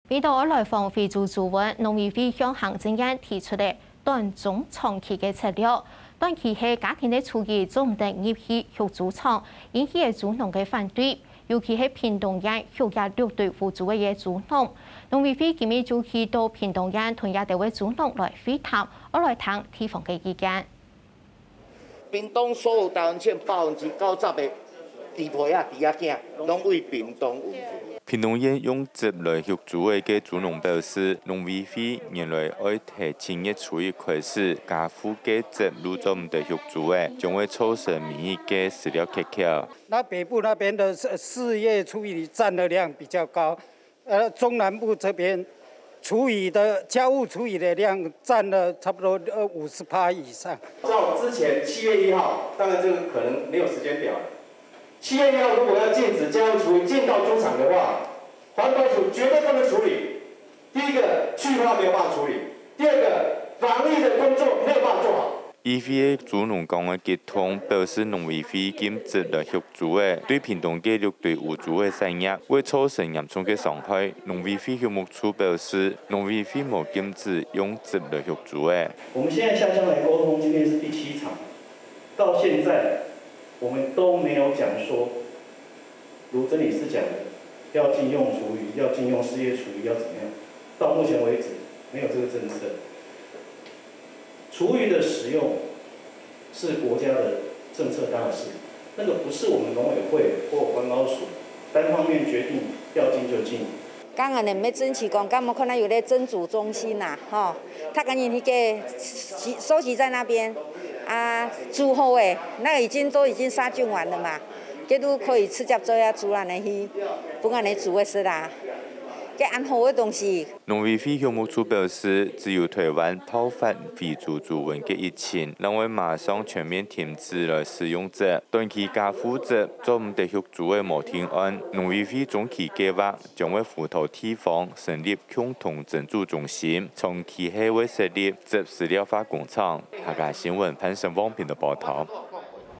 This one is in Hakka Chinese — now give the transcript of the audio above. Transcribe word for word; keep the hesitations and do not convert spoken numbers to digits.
為著愛來防非洲豬瘟，農委會向行政院提出了短中長期个策略。短期係家庭个廚餘做毋得入去畜豬場，引起了豬農个反對，尤其係屏東縣畜這六堆烏豬仔个豬農。農委會今日就去到屏東縣同這兜个豬農來會談，愛來聽地方个意見。 屏東所有台灣省百分之九十的豬皮仔、豬仔囝，攏對屏東運去。屏東縣用汁來畜豬仔个豬農表示，農委會原來愛在七月初一開始，家戶个汁攏做毋得畜豬仔，將會造成每日个食料缺口。那北部那邊的四四月初一佔的量比較高， 呃，中南部這邊廚餘的家務廚餘的量佔了差不多呃五十趴以上。照之前七月一号，当然这个可能没有时间表了。七月一号如果要禁止家务厨余进到猪场的话，环保署绝对不能处理。第一个，去化没有办法处理；第二个，防疫的工作没有办法做好。 議會个豬農講个激動，表示農委會禁止來畜豬仔，對屏東个六堆烏豬仔產業會造成嚴重个傷害。農委會畜牧處表示，農委會無禁止用汁來畜豬仔。我们现在下乡来沟通，今天是第七场，到现在我们都没有讲说，如真理是讲的，要禁用厨余，要禁用四月厨余，要怎么样？到目前为止，没有这个政策。 厨余的使用是国家的政策大事，那个不是我们农委会或环保署单方面决定要禁就禁。刚刚呢，没争取讲，干嘛可能有咧蒸煮中心呐，吼，他赶紧去给收集在那边啊，煮好诶，那个已经都已经杀菌完了嘛，这都可以直接做下煮烂的去，不然你煮会死啦，这安好的东西。 农委会畜牧处表示，只有台湾爆发非洲猪瘟个疫情，正會馬上全面停止來使用汁，短期家戶汁做毋得畜豬仔無定案。農委會中期計畫將會輔導地方成立共同蒸煮中心，長期係會設立汁飼料化工廠。客家新聞潘成旺編導報導。